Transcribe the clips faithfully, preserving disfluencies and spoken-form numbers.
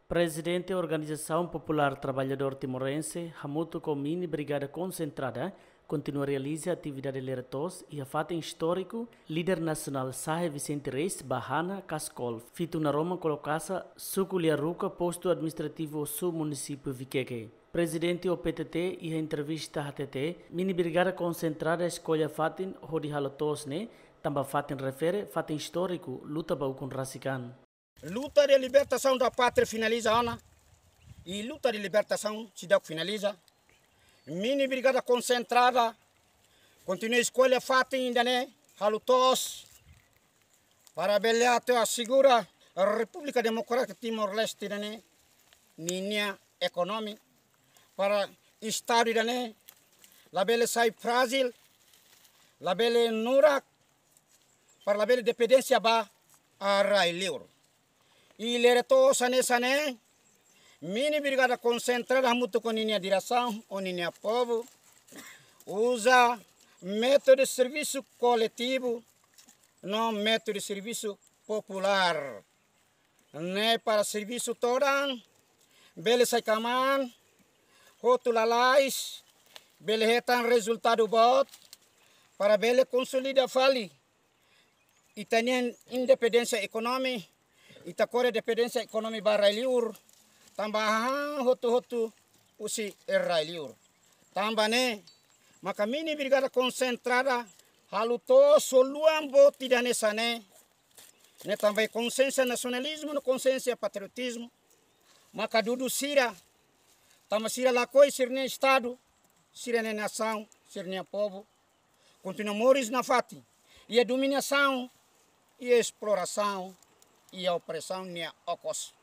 Prezidente Organizasaun Populár Traballadór Timorense, hamutuk ho Mini Brigada Konsentrada, kontinua realiza atividade lere-toos iha fatin istóriku, líder nasionál Sahe Vicente Reis ba Hana Kaskol, Fitu Naroman Kolokasa, Suku Liaruka, Postu Administrativu Ossu, Munisípiu Viqueque. Prezidente O P T T iha entrevista hatete, Mini Brigada Konsentrada eskolla fatin hodi halo toos ne'e, tanba fatin refere fatin istóriku luta ba ukun rasik an. Luta de libertação da pátria finaliza ona, e luta de libertação seidauk finaliza. Mini Brigada Konsentrada kontinua eskolla fatin ida-ne'e, halo toos, para bele atu asegura Repúblika Demokrátika Timor-Leste ida-ne'e ninia ekonomia, para Estadu ida-ne'e labele sai frájil, labele nurak, para labele dependénsia ba rai-liur. I lere-toos hanesan ne'e, Mini Brigada Konsentrada hamutuk ho ninia diresaun, ho ninia povu, uza métodu servisu koletivu, no métodu servisu populár. Ne'e para servisu todan bele sai kmaan, hotu lalais, bele hetan rezultadu boot, para bele konsolida fali ita-nia independénsia ekonomi, ita kore dependénsia ekonomi ba rai-liur, tanba hahán hotu-hotu husi rai-liur. Tanba ne'e, maka Mini Brigada Konsentrada halo toos ho luan boot ida hanesan ne'e, ne'e tanba iha konsiénsia nasionalizmu no konsiénsia patriotizmu, maka dudu sira, tanba sira lakohi sira-nia Estadu, sira-nia nasaun, sira-nia povu, kontinua moris nafatin iha dominasaun, iha esplorasaun, iha opresaun nia okos.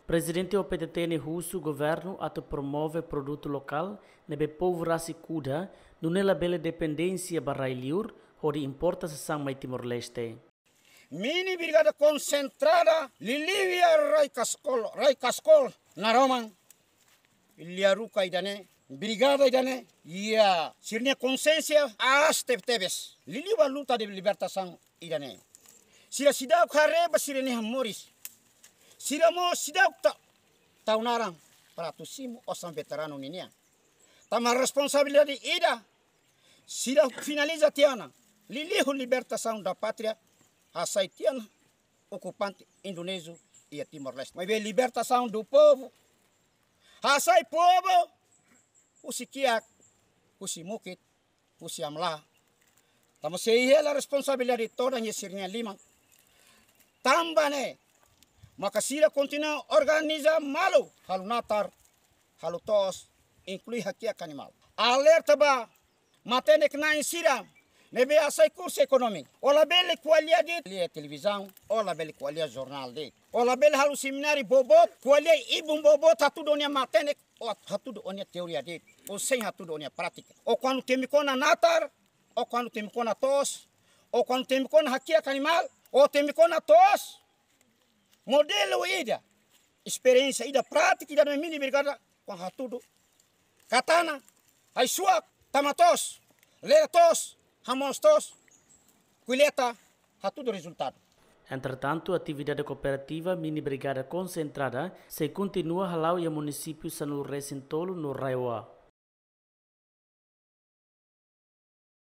Prezidente O P T T ne'e husu governu atu promove produtu lokál ne'ebé povu rasik kuda, nune'e labele dependénsia ba rai-liur hodi importa sasán mai Timor-Leste. Mini Brigada Konsentrada liuliu iha rai Kaskol, rai Kaskol, Naroman, Liaruka ida-ne'e, brigada ida-ne'e, iha sira-nia konsiénsia aas tebetebes liuliu ba luta de libertasaun ida-ne'e. Sira seidauk haree ba sira-nia moris. Sira mós seidauk ta-, tau naran para atu simu osan veteranu ninian. Tanba responsabilidade ida, sira finaliza tiha ona, liuliu libertasaun da pátria, hasai tiha ona okupante Indonéziu iha Timor-Leste. Maibé libertasaun do povu, hasai povu husi kiak, husi mukit, husi hamlaha. Tanba sei hela responsabilidade todan iha sira-nia liman. Tanba ne'e, maka sira kontinua organiza malu, halo natar, halo toos, inklui hakiak animál. Alerta ba matenek-na'in sira ne'ebé hasai kursu ekonomi. Ó labele ko'alia de'it iha televizaun, ó labele ko'alia jornál de'it. Ó labele halo semináriu boboot, ko'alia ibun boboot hatudu ó-nia matenek, ó hatudu ó-nia teoria de'it, ó sein hatudu ó-nia prátika. Ó kuandu temi kona natar, ó kuandu temi kona toos, ó kuandu temi kona hakiak animál, ó temi kona toos. Modelu ida, esperiénsia ida, prátika ida ne'ebé Mini Brigada kuandu hatudu, katana, haisuak, tama toos, lere toos, hamoos toos, kolleita, hatudu rezultadu. Entretantu, atividade kooperativa Mini Brigada Konsentrada sei kontinua hala'o iha munisípiu sanulu-resin-tolu no RAEOA.